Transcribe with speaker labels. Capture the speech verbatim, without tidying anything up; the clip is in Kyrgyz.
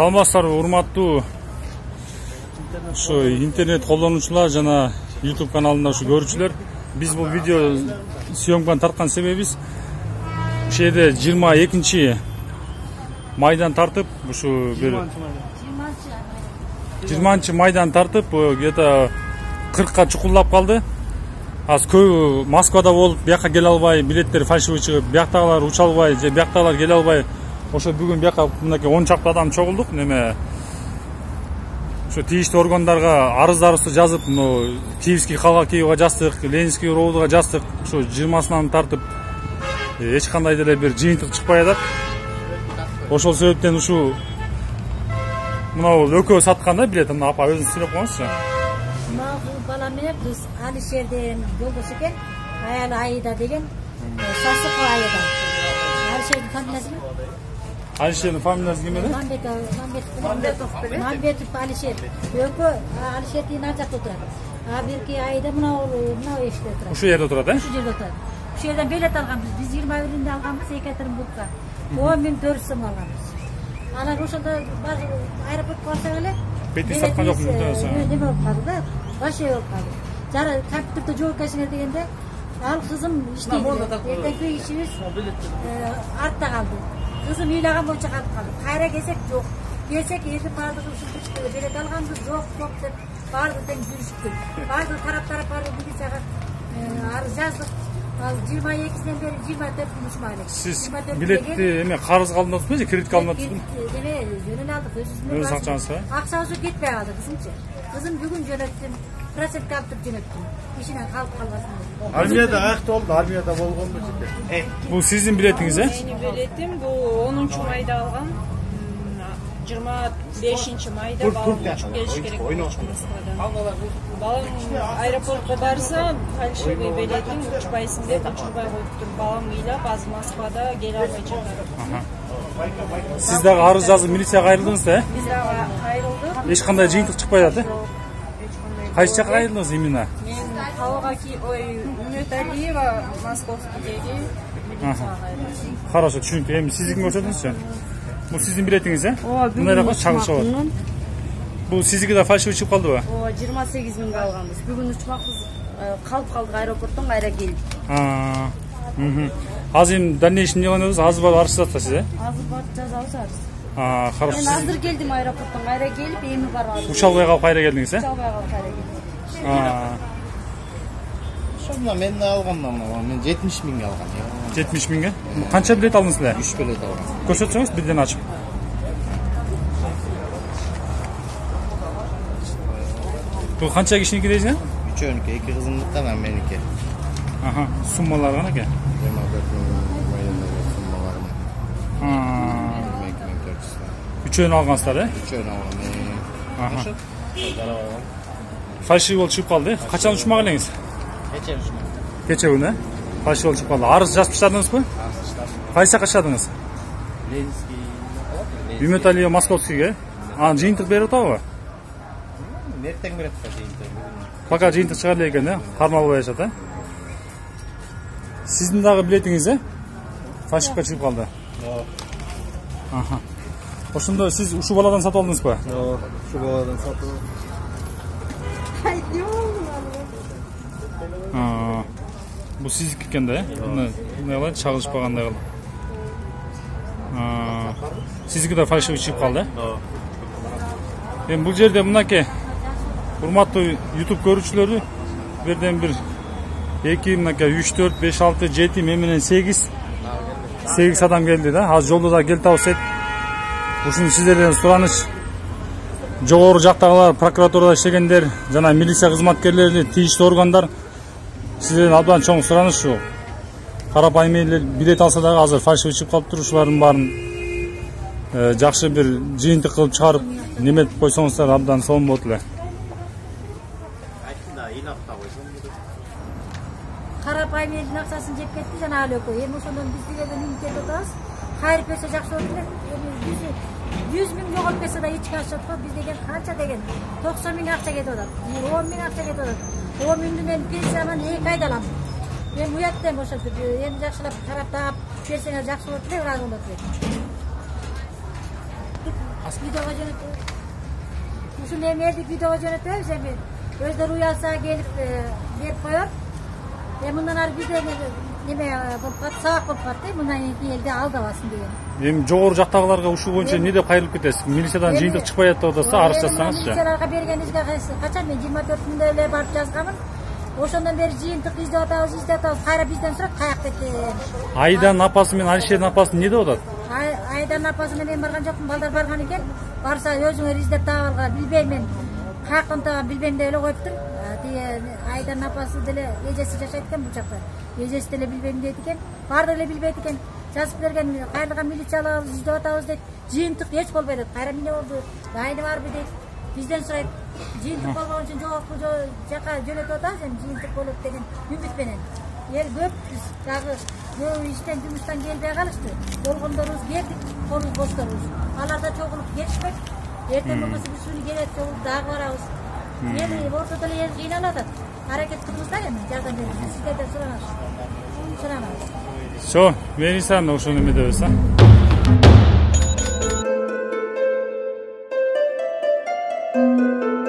Speaker 1: Саламатсыздарбы, урматтуу ушу интернет колдонуучулар жана YouTube каналында ушу көрүүчүлөр. Биз бул видео съемканы тарткан себебибиз ушул жерде жыйырма экинчи майдан тартып, ушу бир жыйырманчы майдан тартып, где-то кыркка чукулдап калды. Аз көбү Москвада болуп, бияка келе албай, билеттер фальшивый чыгып, бияктагылар уча албай, же бияктагылар келе албай, ошо бүгүн бияка мынакей он чакты адам чогулдук. Неме ошо тийиштүү органдарга арыздарыбызды жазып, мына Киевский калга Киевга жаздык, Ленинский роудга жаздык. Ошо жыйырмасынан тартып эч кандай деле бир жыйынтык чыкпай атат. Ошол себептен ушу мына экөө саткан да билет. Мына апа өзүңүз сүйлөп коюңузчу.
Speaker 2: Бала менен биз Алишерден жолдош экен, аялы Айда деген, Сасык Айда. Алишердин фамилиясы?
Speaker 1: Алишердин фамилиясы ким эле?
Speaker 2: Мамбетов. Мамбетов Алишер. Экөө Алишердин ар жакта отурат. А бирки Айда мына мына эшикте отурат.
Speaker 1: Ушул жерде отурат, э?
Speaker 2: Ушул жерде отурат. Ушул жерден билет алганбыз. Биз жыйырма биринде алганбыз Екатеринбургка. он миң төрт жүз сом алганбыз. Анан ошондо аэропортко барсак эле
Speaker 1: бети саткан жокмун десең.
Speaker 2: Неме болуп калды да, вообще болуп калды. Жара компьютерде жооп келсиңер дегенде, ал кызым иштейт. Эртеңки ишибиз артта калды. Кызым ыйлаган боюнча калып калды. Кайра келсек жок. Келсек эки баардыгы ушул билет алганбыз, жок, жок деп баардыгы тең жүрүштүк. Баардыгы тараптар баардыгы милицияга арыз жаздык. Ал жыйырма экисинен бери жыйырма төртүнчү ушмай элек.
Speaker 1: Сиз билетти эме карызга алып атасызбы же кредитке алып атасызбы?
Speaker 2: Эме жөнүн алдык, өзүбүздүн
Speaker 1: өз акчаңызга.
Speaker 2: Акчабыз кетпей калды кызымчы. Кызым бүгүн жөнөттүм, процентке алып туруп жөнөттүм. Ишинен калып калбасын деп.
Speaker 3: Армияда акты болду, армияда болгонбу жеке.
Speaker 1: Бул сиздин билетиңиз, э?
Speaker 4: Менин билетим бул онунчу майда алган. жыйырма бешинчи майда балам учуп келиш керек. Балам аэропортко барса, фальшивый билетин учпайсың деп учурбай коюптур. Балам ыйлап, азыр Москвада келе албай жатат.
Speaker 1: Сиз дагы арыз жазып милицияга кайрылдыңыз да, э?
Speaker 4: Биз дагы кайрылдык.
Speaker 1: Эч кандай жыйынтык чыкпай атат, э? Кайсы жакка кайрылдыңыз именно?
Speaker 4: Мен Калга ой, Үмөталиева Московскийдеги милицияга кайрылдым.
Speaker 1: Хорошо, түшүнүктүү. Эми сиздикин көрсөтүңүзчү. Бул сиздин билетиңиз, э? Мындай эле чагылыш бар. Бул сиздики да фальшивый чыгып калдыбы?
Speaker 5: Ооба, жыйырма сегиз миңге алганбыз. Бүгүн учмакбыз, калып калдык аэропорттон, кайра келдик.
Speaker 1: Аа. Мм. Азыр эми дальнейший эмне кылабыз? Азыр барып арыз жазасыз, э?
Speaker 5: Азыр барып жазабыз арыз.
Speaker 1: Аа, хорошо.
Speaker 5: Мен азыр келдим аэропорттон, кайра келип, эми барып арыз.
Speaker 1: Уча албай калып кайра келдиңиз, э?
Speaker 5: Уча албай калып кайра келдим.
Speaker 1: Аа.
Speaker 3: Ошондо мен алгандам, мен жетимиш миңге алгам.
Speaker 1: жетимиш миңге? Канча билет алдыңыз эле?
Speaker 3: үч билет алгам.
Speaker 1: Көрсөтсөңүз бирден ачып. Бул канча кишиники дейсиң?
Speaker 3: Үчөөнүкү, эки кызымдыкы, анан меники.
Speaker 1: Аха, суммалар канаке?
Speaker 3: жыйырма төрт миң майдандагы суммаларым.
Speaker 1: Аа.
Speaker 3: эки миң төрт жүз.
Speaker 1: Үчөөнү алгансыздар, э?
Speaker 3: Үчөөнү алгам.
Speaker 1: Аха. Фальшивый болуп чыгып калды. Качан учмак элеңиз?
Speaker 3: Кече ушмак.
Speaker 1: Кече күнү, э? Фальшивый болуп чыгып калды. Арыз жазып таштадыңызбы? Кайсы жакка таштадыңыз?
Speaker 3: Ленинский.
Speaker 1: Үмөталиева Московскийге. Анан жыйынтык берип атабы?
Speaker 3: Эртең берет да жыйынтык.
Speaker 1: Пока жыйынтык чыгар эле экен, э? Кармалбай атат, э? Сиздин дагы билетиңиз, э? Фальшивка чыгып калды.
Speaker 3: Жок.
Speaker 1: Аха. Ошондо сиз ушул баладан сатып алдыңызбы?
Speaker 3: Жок, ушул баладан сатып.
Speaker 1: Аа. Бул сиздики экен да, э? Мына эмне кылат, чагылышпагандай кылып. Аа. Сиздики да фальшивый чыгып калды, э? Эми бул жерде мынакей урматтуу YouTube көрүүчүлөрү бирден бир эки мынакей үч төрт беш алты жети менен сегиз сегиз адам келди да. Азыр жолдо да келип табылсат. Ушуну сиздерден сураныч. Жогору жактагылар, прокуратурада иштегендер жана милиция кызматкерлери, тийиштүү органдар сиздерден абдан чоң сураныч ушул. Карапайым эле билет алса дагы азыр фальшивый чыгып калыптыр. Ушулардын баарын жакшы бир жыйынтык кылып чыгарып неметип койсоңуздар абдан сонун болот эле.
Speaker 2: Карапайым элдин акчасын жеп кетти жана ал экөө. Эми ошондон биз дегенден үмүттөнүп атабыз. Кайрып берсе жакшы болот элек. Эми жүз миң жоголуп кетсе да эч качы жок. Биз деген канча деген токсон миң акча кетип атат. он миң акча кетип атат. он миңдин мен пенсияман эки айда алам. Мен уяттым ошо эми жакшылап карап таап берсеңер жакшы болот эле, ыраазы болот элек. видеого жөнөтөбүз. Ушул эмелди видеого жөнөтөбүз, эми өздөрү уялса келип берип коет. Эми мындан ары бизде неме болуп калат, сабак болуп калат да, мындан кийин элди алдабасын деген.
Speaker 1: Эми жогору жактагыларга ушул боюнча эмне деп кайрылып кетесиз? Милициядан жыйынтык чыкпай атат деп атса, арыз жазсаңызчы.
Speaker 2: Милицияларга бергенибизге качан мен жыйырма төртүндө эле барып жазганмын. Ошондон бери жыйынтык издеп атабыз, издеп атабыз. Кайра бизден сурат, каякта экен.
Speaker 1: Айдан апасы менен Алишердин апасы эмне деп атат?
Speaker 2: Айдан апасы менен барган жокмун, балдар барган экен. Барса өзүңөр издеп таап алгыла, билбейм мен. Каяктан таган билбейм деп эле коюптур. Тиги Айдан апасы деле эжеси жашайт экен бул жакта. Эжеси деле билбейм дейт экен. Баардыгы эле билбейт экен. Жазып берген, кайрылган милициялар издеп атабыз дейт. Жыйынтык эч болбой дейт. Кайра эмне болду? Айны барбы дейт. Бизден сурайт. Жыйынтык болгон үчүн жоокпу, жака жөнөтүп атабыз, эми жыйынтык болот деген үмүт менен. Эл көп, биз дагы көбү иштен, жумуштан келбей калышты. Болгондорубуз бердик, колубуз бошторбуз. Алар да чогулуп келишпек. Эртең болбосо биз ушуну келет, чогулуп дагы барабыз. Эл ортодо эле эл кыйналып атат. Аракет кылыңыз да эми жардам бериңиз. Сиздерден суранабыз. Суранабыз.
Speaker 1: Всё, Венисан ошону эме дебиз, а?
Speaker 6: Thank you.